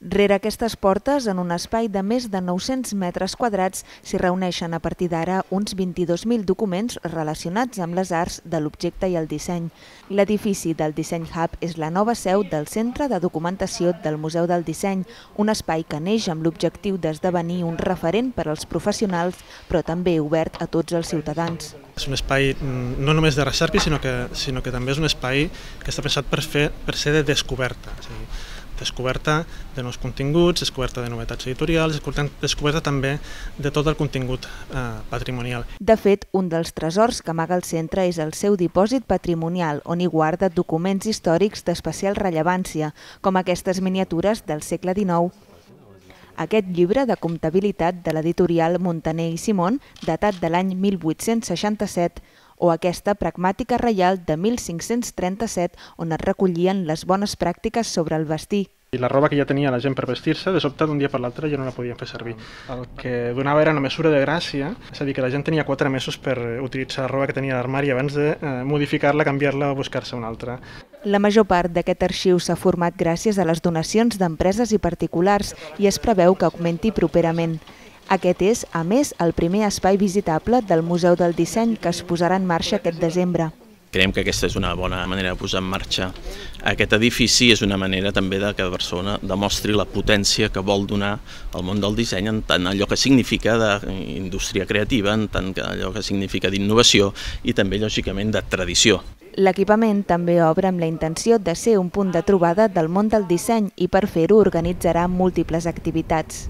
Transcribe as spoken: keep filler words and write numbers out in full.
Rere aquestes portes, en un espai de més de nou-cents metres quadrats, s'hi reuneixen a partir d'ara uns vint-i-dos mil documents relacionats amb les arts de l'objecte i el disseny. L'edifici del Disseny Hub és la nova seu del Centre de Documentació del Museu del Disseny, un espai que neix amb l'objectiu d'esdevenir un referent per als professionals, però també obert a tots els ciutadans. És un espai no només de recerca, sinó que, sinó que també és un espai que està pensat per, fer, per ser de descoberta. És a dir, descoberta de nous continguts, descoberta de novetats editorials, descoberta també de tot el contingut eh, patrimonial. De fet, un dels tresors que amaga el centre és el seu dipòsit patrimonial, on hi guarda documents històrics d'especial rellevància, com aquestes miniatures del segle dinou. Aquest llibre de comptabilitat de l'editorial Montaner i Simón, datat de l'any mil vuit-cents seixanta-set, o aquesta pragmàtica reial de mil cinc-cents trenta-set, on es recollien les bones pràctiques sobre el vestir. I la roba que ja tenia la gent per vestir-se, de sobte d'un dia per l'altre ja no la podien fer servir. El que donava era una mesura de gràcia, és a dir, que la gent tenia quatre mesos per utilitzar la roba que tenia a l'armari abans de eh, modificar-la, canviar-la o buscar-se una altra. La major part d'aquest arxiu s'ha format gràcies a les donacions d'empreses i particulars i es preveu que augmenti properament. Aquest és, a més, el primer espai visitable del Museu del Disseny que es posarà en marxa aquest desembre. Creiem que aquesta és una bona manera de posar en marxa aquest edifici, és una manera també de que Barcelona demostri la potència que vol donar al món del disseny en tant allò que significa d'indústria creativa, en tant allò que significa d'innovació i també, lògicament, de tradició. L'equipament també obre amb la intenció de ser un punt de trobada del món del disseny i per fer-ho organitzarà múltiples activitats.